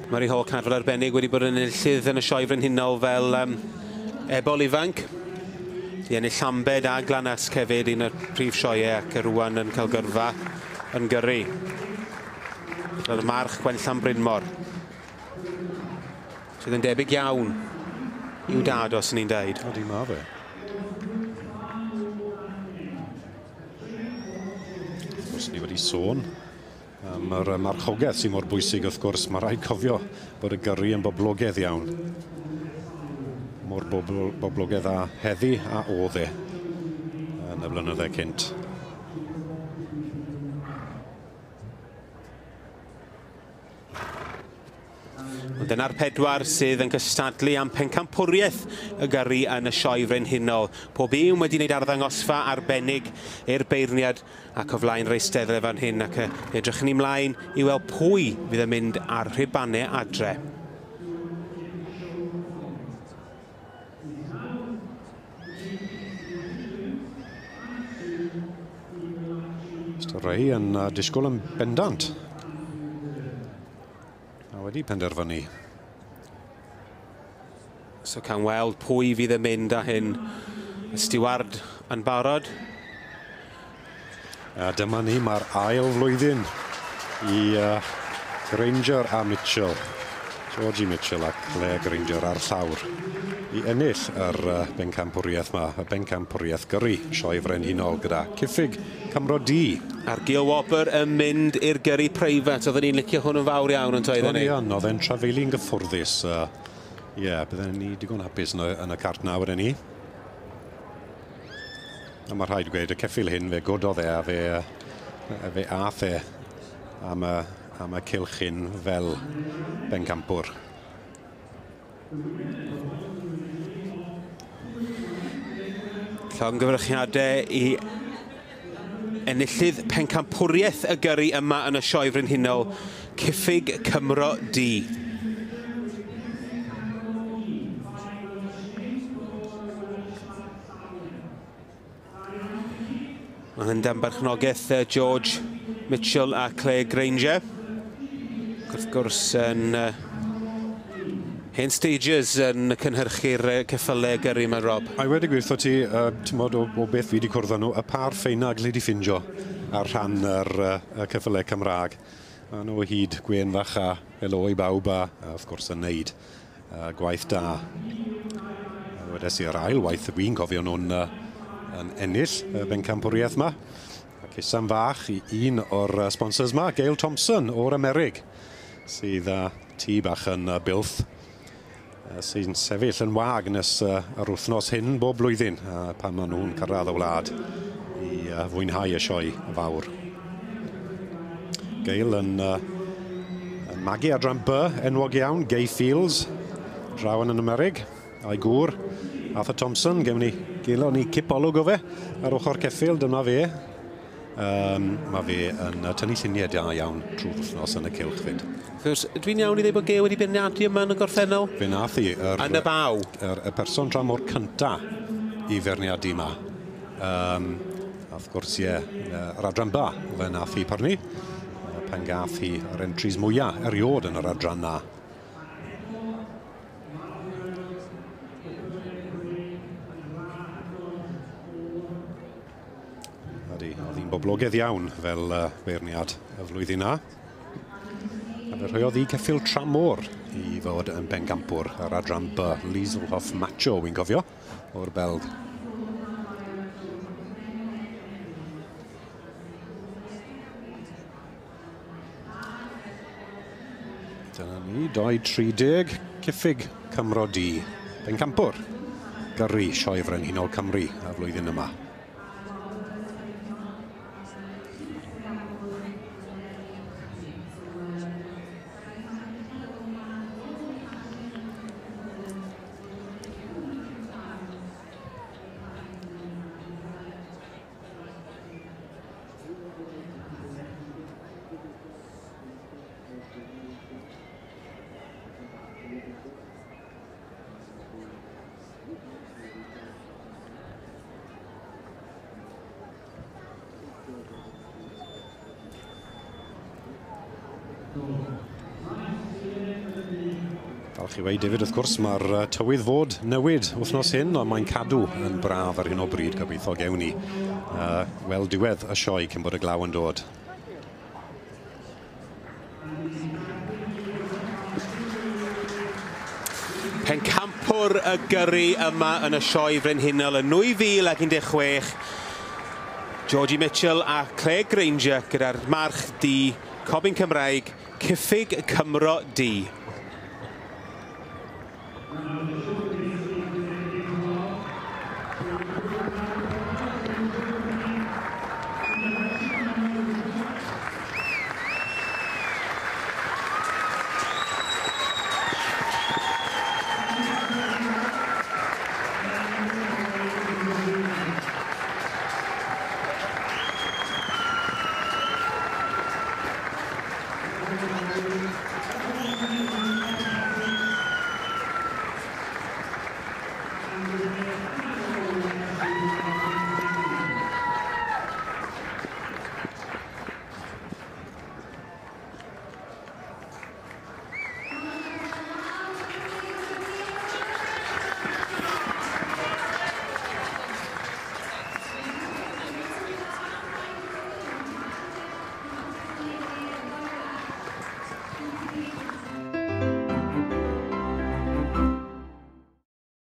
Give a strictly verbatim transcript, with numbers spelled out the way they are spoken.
Murray Hall Cadfel arbennig wedi bod yn enillydd yn y Sioe Frenhinol fel um, ebol ifanc. Di ennill Llambed a Glanasg hefyd, un o'r prif sioeau, ac rwan yn cael gyrfa yn gyrru. Roedd y march Gwenllan Brynmor, sydd yn debyg iawn i'w dad, os ni'n deud. Odi, ma fe. Wrth gwrs, ni wedi sôn am yr marchogaeth sy'n mor bwysig, wrth gwrs. Mae rhaid cofio bod y gyrru yn boblogaidd iawn. Mor bobl, boblogaidd a heddi a oedd e yn y blynydde cynt. Dyna'r pedwar sydd yn cystadlu am pencampwriaeth y gyrru yn y Sioe Frenhinol. Pob un wedi wneud arddangosfa arbennig i'r beirniad ac o flaen yr eisteddle fan hyn, ac edrych ni mlaen i weld pwy fydd yn mynd ar rhubanau adre. Mister Ray yn disgwyl yn bendant. A wedi penderfynu. So cawn weld pwy fydd yn mynd â hyn. Y stiward yn barod. A dyma ni, mae'r ail flwyddyn i uh, Granger a Mitchell. Georgie Mitchell a Claire Granger ar llawr i ennill yr uh, bencampwriaeth ma, y bencampwriaeth gyrru Sioe Frenhinol gyda Cyffig Cymro D. A'r Gil Wobr yn mynd i'r gyrru preifat. Oedden ni'n licio hwn yn fawr iawn yn toedden ni? O'n i yn, oedd e'n trafeilu'n gyffwrddus. Ie, uh, yeah, bydden ni digon hapus yn y, yn y cart na wedyn ni. A mae rhaid gweud, y ceffyl hyn fe gododd e a fe, fe ath e am y, am y cylch hyn fel bencampwr. Llongyfarchiadau i enillydd pencampwriaeth y gyrru yma yn y Sioe Frenhinol, Cyffig Cymro D. Mae hyn dan berchnogaeth George Mitchell a Claire Granger. Wrth gwrs yn uh, hen stagers yn cynhyrchu'r ceffylau gyrru yma, Rob. A i wedi gweithio ti, uh, ti'n o, o beth fi wedi cwrdd â nhw, y par ffeina gli di ffindio ar rhan yr uh, y ceffylau Cymraeg. A nhw o hyd gwen fach a helo i bawb a, a wrth gwrs yn neud uh, gwaith da. A wedes i yr ail waith wy'n cofio nhw'n uh, yn ennill y bencampwriaeth yma. Ac isam fach i un o'r sponsors yma, Gail Thompson o'r Amerig, sydd â tŷ bach yn Builth, sy'n sefyll yn wag nes yr wythnos hyn bob blwyddyn, pan maen nhw'n cyrraedd y wlad i fwynhau y sioe fawr. Gail yn, yn magu adran B, enwog iawn, Gay Fields, draw yn Amerig, a'i gŵr, Arthur Thompson, gewn ni, gelon ni cipolwg o fe ar ochr ceffyl, dyma fe. Um, mae fe yn tynnu lluniau da iawn trwy'r wythnos yn y cylch fyd. Dwi'n iawn i ddweud bod Gail wedi beirniadu yma yn y gorffennol? Fe nath hi. Yr, yn y baw? Yr, y person tramor cynta i feirniadu yma. Um, a wrth gwrs, ie, yr adran ba, fe nath hi parnu. Pan gath hi yr entries mwyaf eriod yn yr adran na. Ydy, oedd hi'n boblogaidd iawn fel uh, beirniad y flwyddyn na. A fe rhoiodd hi ceffyl tramor i fod yn bencampwr ar adran B, Lieselhoff Macho, wy'n cofio, o'r Belg. Dyna ni, dau tri deg, Cyffig Cymro D, bencampwr gyrru Sioe Frenhinol Cymru y flwyddyn yma. Falch i weud David, wrth gwrs, mae'r tywydd fod newid wythnos hyn, ond mae'n cadw yn braf ar hyn o bryd, gobeithio gewn ni uh, weld diwedd y sioe cyn bod y glaw yn dod. Pencampwr y gyrru yma yn y sioe frenhinol yn nwy fil ac un deg chwech. Georgie Mitchell a Claire Granger gyda'r march du, Cobyn Cymraeg, Cyffig Cymro Du.